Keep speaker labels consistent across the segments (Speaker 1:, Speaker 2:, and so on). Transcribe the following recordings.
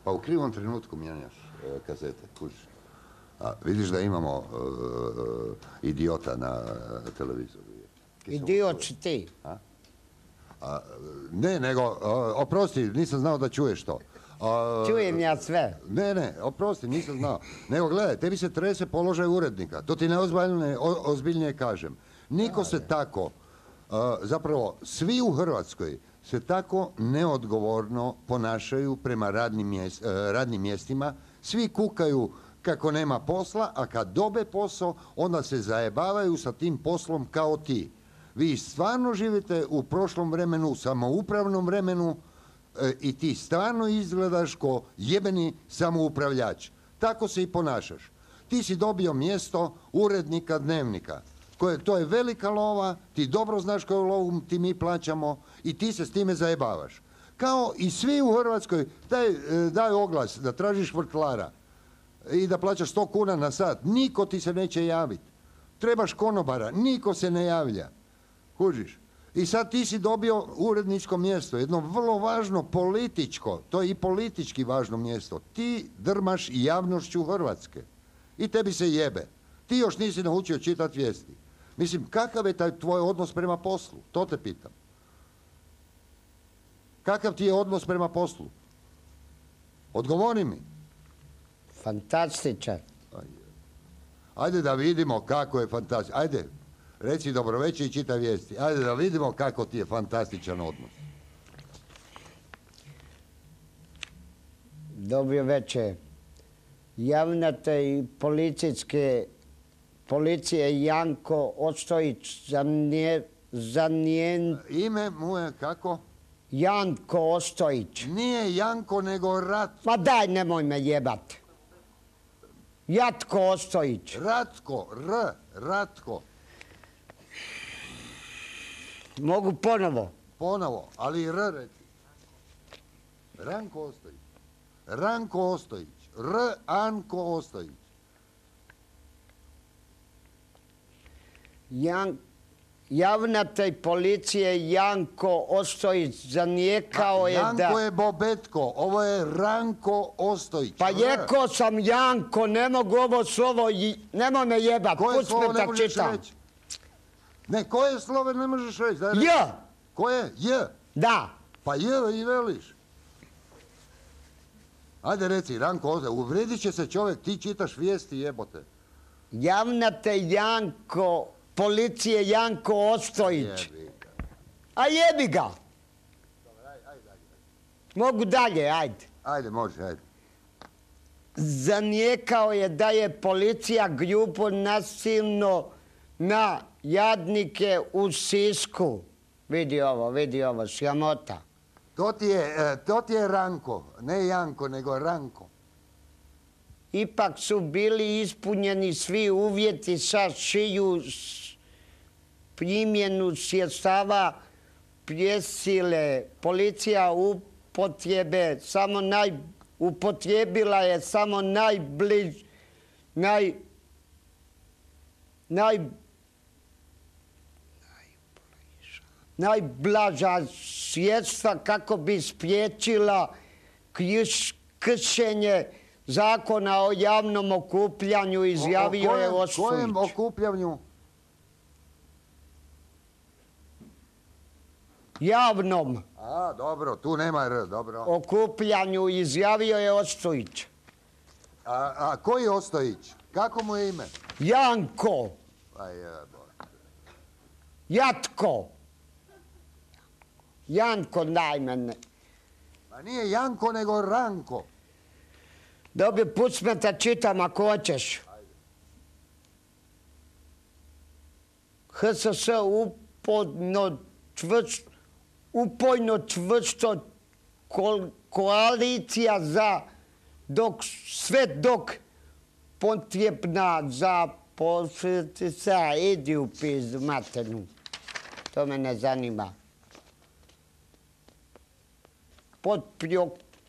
Speaker 1: Pa u krivom trenutku mijenjaš kazete, kužiš. Vidiš da imamo idiota na televizoru.
Speaker 2: Idiot si ti.
Speaker 1: Ne, nego, oprosti, nisam znao da čuješ to.
Speaker 2: Čujem ja sve.
Speaker 1: Ne, oprosti, nisam znao. Nego, gledaj, tebi se trese položaj urednika. To ti neozbiljnije kažem. Niko se tako, zapravo, svi u Hrvatskoj se tako neodgovorno ponašaju prema radnim mjestima. Svi kukaju kako nema posla, a kad dobe posao, onda se zajebavaju sa tim poslom kao ti. Vi stvarno živite u prošlom vremenu, samoupravnom vremenu i ti stvarno izgledaš ko jebeni samoupravljač. Tako se i ponašaš. Ti si dobio mjesto urednika Dnevnika. To je velika lova, ti dobro znaš koju lovu ti mi plaćamo i ti se s time zajebavaš. Kao i svi u Hrvatskoj daju oglas da tražiš vrtlara i da plaćaš 100 kuna na sat. Niko ti se neće javiti. Trebaš konobara, niko se ne javlja. Kužiš? I sad ti si dobio uredničko mjesto, jedno vrlo važno političko, to je i politički važno mjesto. Ti drmaš i javnošću Hrvatske i tebi se jebe. Ti još nisi naučio čitati vijesti. Mislim, kakav je taj tvoj odnos prema poslu? To te pitam. Kakav ti je odnos prema poslu? Odgovori mi.
Speaker 2: Fantastičan.
Speaker 1: Ajde da vidimo kako je fantastičan. Ajde, reci dobroveče i čitaj vijesti. Ajde da vidimo kako ti je fantastičan odnos.
Speaker 2: Dobro večer. Javnate i policije Janko Ostojić za njen...
Speaker 1: Ime mu je kako?
Speaker 2: Janko Ostojić.
Speaker 1: Nije Janko, nego Ratko.
Speaker 2: Ma daj, nemoj me jebat. Jatko Ostojić.
Speaker 1: Ratko, Ratko.
Speaker 2: Mogu ponovo?
Speaker 1: Ponovo, ali R reci. Ranko Ostojić. Ranko Ostojić. Anko Ostojić.
Speaker 2: Javnatelj policije Janko Ostojić zanijekao je da...
Speaker 1: Janko je Bobetko, ovo je Ranko Ostojić.
Speaker 2: Pa jeko sam Janko, ne mogu ovo slovo, nemoj me jebat, puć me da čitam.
Speaker 1: Ne, koje slovo ne možeš reći?
Speaker 2: J.
Speaker 1: Koje? J?
Speaker 2: Da.
Speaker 1: Pa J i veliš. Ajde reci, Ranko Ostojić, uvredit će se čovjek, ti čitaš vijesti, jebote.
Speaker 2: Javnatelj Janko... Policije Janko Ostojić. A jebi ga. Mogu dalje, ajde.
Speaker 1: Ajde, može, ajde.
Speaker 2: Zanijekao je da je policija grubo nasilno na jadnike u Sisku. Vidi ovo, sramota.
Speaker 1: To ti je Ranko, ne Janko, nego Ranko.
Speaker 2: Ipak su bili ispunjeni svi uvjeti sa šiju primjenu sredstava prisile. Policija upotrijebila je samo najblaža sredstva kako bi spriječila kršenje Zakona o javnom okupljanju, izjavio je Ostojić.
Speaker 1: O kojem okupljanju?
Speaker 2: Javnom.
Speaker 1: A, dobro, tu nema R, dobro.
Speaker 2: Okupljanju, izjavio je Ostojić.
Speaker 1: A koji Ostojić? Kako mu je ime?
Speaker 2: Janko. Jatko. Janko, daj mene.
Speaker 1: Pa nije Janko, nego Ranko.
Speaker 2: Dobio, puć me da čitam ako hoćeš. HSS upojno čvrsto koalicija sve dok potrebna za posljedica, idi u pizdu maternu. To me ne zanima. Pod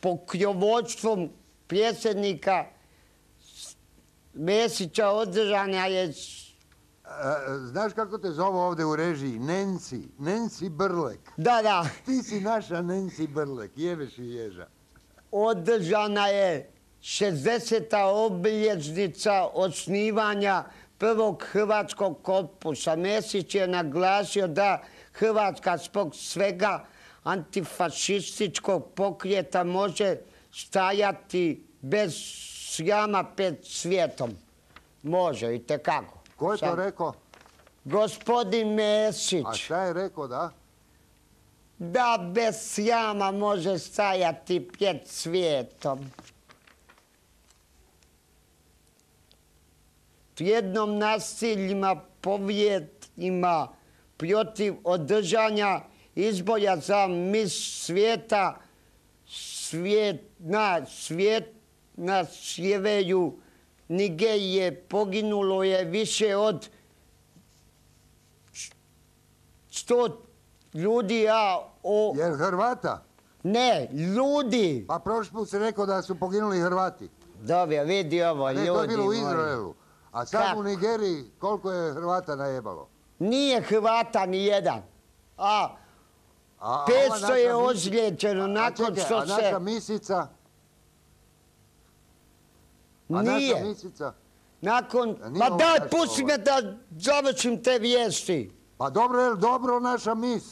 Speaker 2: pokrovođstvom predsjednika Mesića održana je...
Speaker 1: Znaš kako te zovu ovdje u režiji? Nancy Brlek.
Speaker 2: Da.
Speaker 1: Ti si naša Nancy Brlek, jebeš i ježa.
Speaker 2: održana je 60. obilježnica osnivanja prvog hrvatskog korpusa. Mesić je naglasio da Hrvatska zbog svega antifašističkog pokreta može stajati bez sjama pred svijetom. Može, itekako.
Speaker 1: Ko je to rekao?
Speaker 2: Gospodin Mesić.
Speaker 1: A šta je rekao, da?
Speaker 2: Da bez sjama može stajati pred svijetom. Jednom nasiljima, povjetima protiv održanja izbora za mis svijeta na sjeveru Nigerije poginulo je više od 100 ljudi,
Speaker 1: Jer Hrvata?
Speaker 2: Ne, ljudi.
Speaker 1: Pa prošli put se rekao da su poginuli Hrvati.
Speaker 2: Dobro, vidi ovo, ljudi.
Speaker 1: Ne, to je bilo u
Speaker 2: moji.
Speaker 1: Izraelu. A sad u Nigeriji koliko je Hrvata najebalo?
Speaker 2: Nije Hrvata ni jedan. A 500 je ozlijeđeno nakon što
Speaker 1: A
Speaker 2: se...
Speaker 1: naša misica? A
Speaker 2: Nije.
Speaker 1: naša misica?
Speaker 2: Nakon...
Speaker 1: nije
Speaker 2: Pa
Speaker 1: ovo
Speaker 2: daj,
Speaker 1: naša
Speaker 2: pusti me da završim te vijesti.
Speaker 1: Pa dobro, je li dobro naša mis?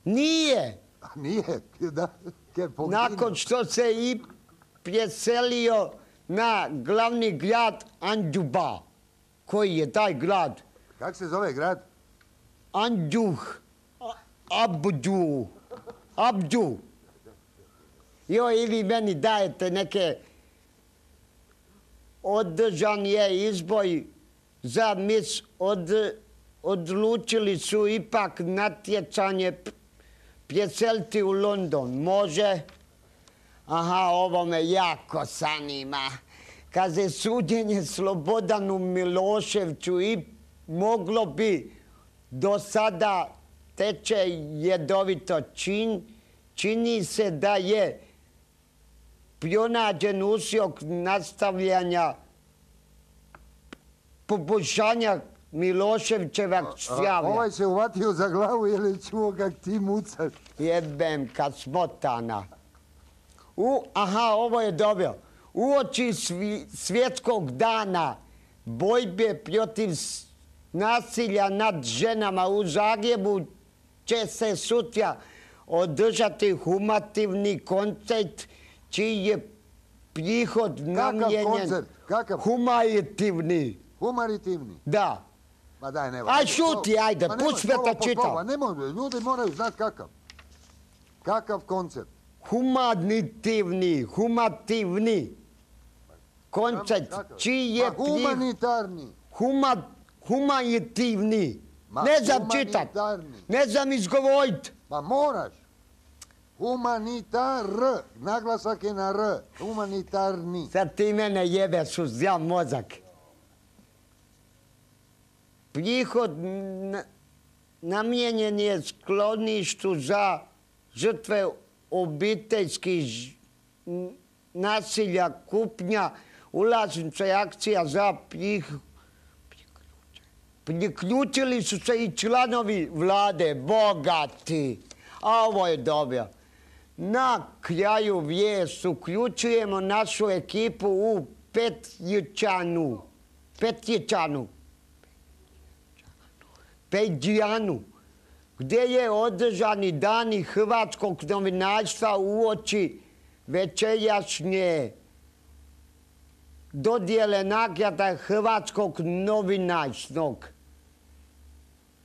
Speaker 2: Nije.
Speaker 1: Nije, da, jer poginu.
Speaker 2: Nakon što se i preselio na glavni grad Andjuba. Koji je taj grad?
Speaker 1: Kako se zove grad?
Speaker 2: Andjuh. Abdu. Joj, i vi meni dajete neke... Održan je izbor za mis, odlučili su ipak natjecanje preseliti u London. Može? Aha, ovo me jako zanima. Kaže, suđenje Slobodanu Miloševiću i moglo bi do sada teče jedovito čini se da je pronađen usjok nastavljanja poboljšanja Miloševićevog zdravlja.
Speaker 1: Ovaj se uvatio za glavu jer je čuo kak ti mucaš.
Speaker 2: Jebem kad smotana. Aha, ovo je dobro. Uoči svjetskog dana borbe protiv nasilja nad ženama u Zagrebu će se sutra održati humativni koncert čiji je prihod namijenjen...
Speaker 1: Kakav koncert? Kakav?
Speaker 2: Humanitivni.
Speaker 1: Humanitivni?
Speaker 2: Da.
Speaker 1: Ma daj, nemoj.
Speaker 2: Aj šuti, ajde, pusti me da čitam.
Speaker 1: Nemoj, ljudi moraju znati kakav. Kakav koncert?
Speaker 2: Humanitivni koncert čiji je
Speaker 1: Pa humanitarni.
Speaker 2: Humanitivni. Ne znam čitat. Ne znam izgovorit.
Speaker 1: Pa moraš. Humanitar. Naglasak je na R. Humanitarni.
Speaker 2: Sad ti mene jebeš uz zjam mozak. Prihod namijenjen je skloništu za žrtve obiteljskih nasilja, kupnja, ulaznica i akcija za priključili su se i članovi vlade, bogati. A ovo je dobro. Na kraju vijest uključujemo našu ekipu u Peđijanu, gdje je održani dani hrvatskog novinarstva uoči večerašnje dodjele nagrada hrvatskog novinarskog.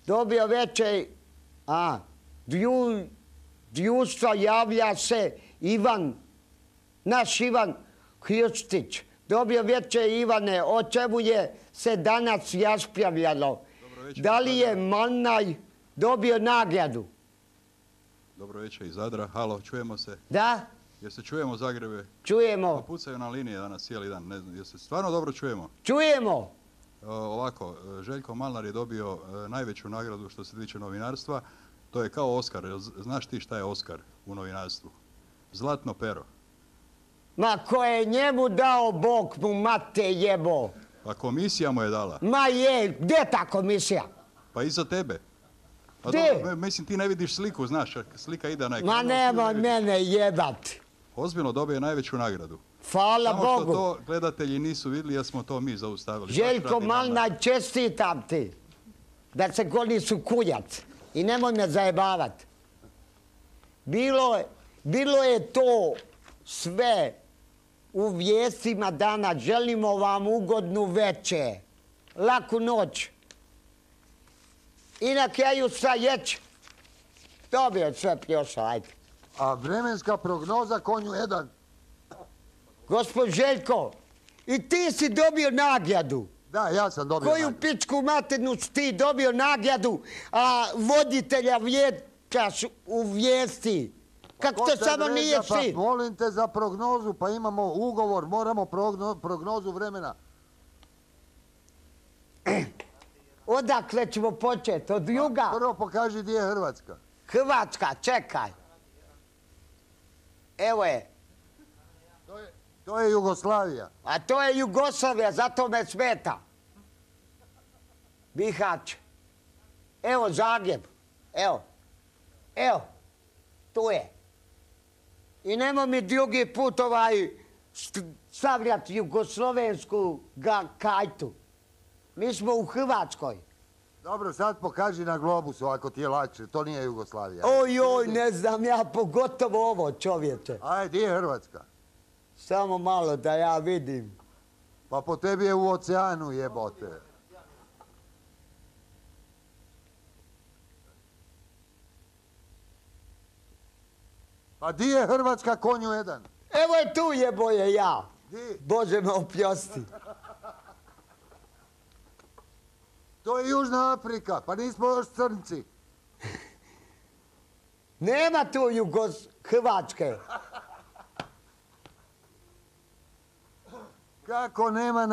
Speaker 2: Dobio večer, društva javlja se naš Ivan Hrstić. Dobio večer, Ivane, o čemu je se danas raspravljalo? Da li je Malnaj dobio nagradu?
Speaker 3: Dobro večer iz Zadra. Halo, čujemo se?
Speaker 2: Da?
Speaker 3: Jel se čujemo Zagrebe?
Speaker 2: Čujemo.
Speaker 3: Pa pucaju na linije danas cijeli dan. Ne znam, jel se stvarno dobro čujemo?
Speaker 2: Čujemo.
Speaker 3: Ovako, Željko Malnar je dobio najveću nagradu što se tiče novinarstva. To je kao Oskar. Znaš ti šta je Oskar u novinarstvu? Zlatno pero.
Speaker 2: Ma ko je njemu dao, Bog mu mate jebo.
Speaker 3: Pa komisija mu je dala.
Speaker 2: Ma je, gdje ta komisija?
Speaker 3: Pa iza tebe. Pa
Speaker 2: Gdje?
Speaker 3: dobro, mislim ti ne vidiš sliku, znaš, slika ide na ekranu.
Speaker 2: Ma nemoj mene jebat.
Speaker 3: ozbiljno dobio najveću nagradu.
Speaker 2: Hvala
Speaker 3: Samo što
Speaker 2: Bogu.
Speaker 3: to gledatelji nisu vidjeli jer smo to mi zaustavili.
Speaker 2: Željko Malnaj, čestitam ti da se goni su kuljac i nemoj me zajebavati. Bilo je to sve u vijestima dana. Želimo vam ugodnu večer, laku noć. I na kraju šta jeć? Dobio je sve pljoša, ajde.
Speaker 1: A vremenska prognoza konju 1.
Speaker 2: Gospod Željko, i ti si dobio nagradu.
Speaker 1: Da, ja sam dobio
Speaker 2: Koju
Speaker 1: nagradu.
Speaker 2: pičku maternu si ti dobio nagradu, a voditelja vječaš u vijesti? Kako to samo nije sin?
Speaker 1: Pa molim te za prognozu, pa imamo ugovor, moramo prognozu vremena.
Speaker 2: Odakle ćemo početi? Od juga?
Speaker 1: Prvo pokaži gdje je Hrvatska.
Speaker 2: Hrvatska, čekaj. Evo je.
Speaker 1: To je Jugoslavija.
Speaker 2: A to je Jugoslavija, zato me smeta. Bihać. Evo Zagreb. Evo. Evo. Tu je. I nemoj mi drugi put stavljati jugoslovensku kajtu. Mi smo u Hrvatskoj.
Speaker 1: Dobro, sad pokaži na globusu ako ti je lakše. To nije Jugoslavija.
Speaker 2: Oj, ne znam ja, pogotovo ovo, čovječe.
Speaker 1: Ajde, gdje je Hrvatska?
Speaker 2: Samo malo da ja vidim.
Speaker 1: Pa po tebi je u oceanu, jebote. Pa di je Hrvatska konju 1?
Speaker 2: Evo je tu jeboje ja.
Speaker 1: Di?
Speaker 2: Bože me oprosti.
Speaker 1: To je Južna Afrika, pa nismo još crnci.
Speaker 2: Nema tu Hrvatske.
Speaker 1: Kako nema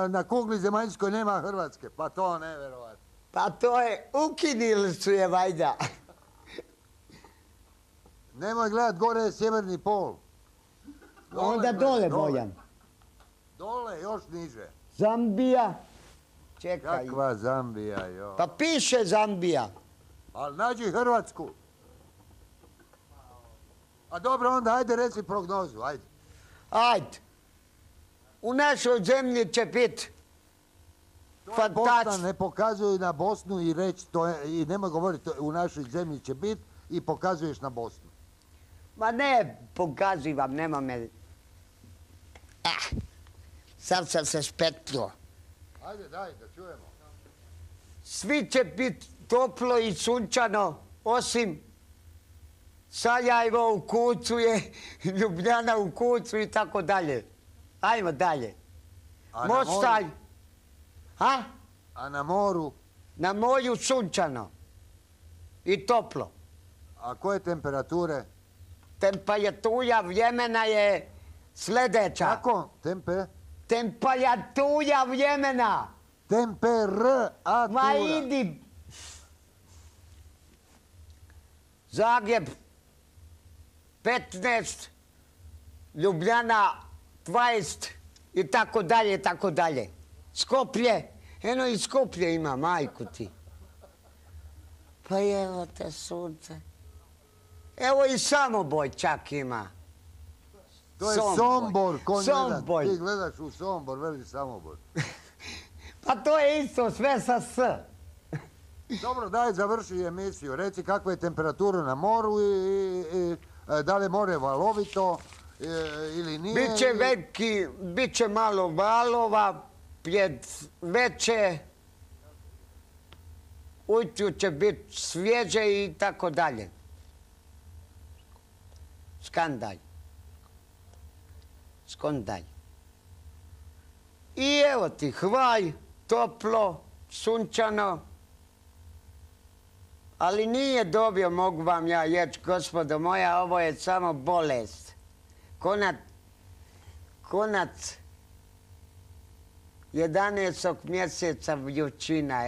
Speaker 1: na kugli zemaljskoj nema Hrvatske? Pa to nevjerovatno.
Speaker 2: Pa to je, ukinili su je vajda.
Speaker 1: Nemoj gledat, gore je sjeverni pol.
Speaker 2: Onda dole Bojan.
Speaker 1: Dole, još niže.
Speaker 2: Zambija. Čekaj.
Speaker 1: Kakva Zambija, jo.
Speaker 2: Pa piše Zambija.
Speaker 1: Ali nađi Hrvatsku. A dobro, onda ajde reci prognozu, ajde.
Speaker 2: Ajde. U našoj zemlji će biti
Speaker 1: Bosna
Speaker 2: fantastično.
Speaker 1: ne pokazuju na Bosnu i reći to je, i nemoj govoriti u našoj zemlji će biti i pokazuješ na Bosnu.
Speaker 2: Ma ne, pokazivam, nema me. Sad sam se špetlo.
Speaker 1: Ajde, daj, da čujemo.
Speaker 2: Svi će biti toplo i sunčano, osim Sarajevo u kucu je, Ljubljana u kucu i tako dalje. Ajmo dalje.
Speaker 1: A na
Speaker 2: Mostar.
Speaker 1: moru?
Speaker 2: A?
Speaker 1: A na moru?
Speaker 2: Na moru sunčano i toplo.
Speaker 1: A koje temperature?
Speaker 2: Temperatura vremena je sljedeća.
Speaker 1: Kako?
Speaker 2: Temperatura vremena.
Speaker 1: Temperatura.
Speaker 2: Ma idi. Zagreb 15, Ljubljana 20 i tako dalje, i tako dalje. Skoplje, eno i Skoplje ima, majku ti. Pa evo te sunce. Evo i Samoboj čak ima.
Speaker 1: To je Sombor, konj jedan.
Speaker 2: Somboj.
Speaker 1: Ti gledaš u Sombor, veli Samobor.
Speaker 2: Pa to je isto, sve sa S.
Speaker 1: Dobro, daj, završi emisiju. Reci kakva je temperatura na moru i da li je more valovito ili nije.
Speaker 2: Biće malo valova, pred veće, ujutru će biti svježe i tako dalje. Skandaj. I evo ti Hvaj, toplo, sunčano, ali nije dobio, mogu vam ja reći, gospodo moja, ovo je samo bolest. Konac 11. mjeseca vrućina,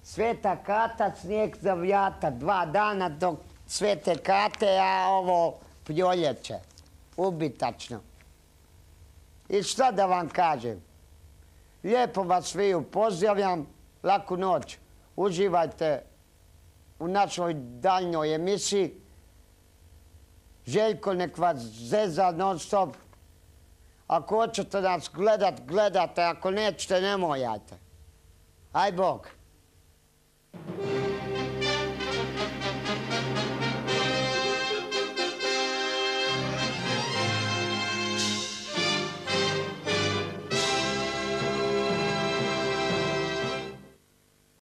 Speaker 2: Sveta Kata, snijeg za vjata, 2 dana dok Svete Kate, a ovo proljeće. Ubitačno. I šta da vam kažem? Lijepo vas sviju pozdravljam, laku noć. Uživajte u našoj daljnjoj emisiji Željko nek vas zeza non stop. Ako hoćete nas gledate, ako nećete, ne mojate. Aj Bog.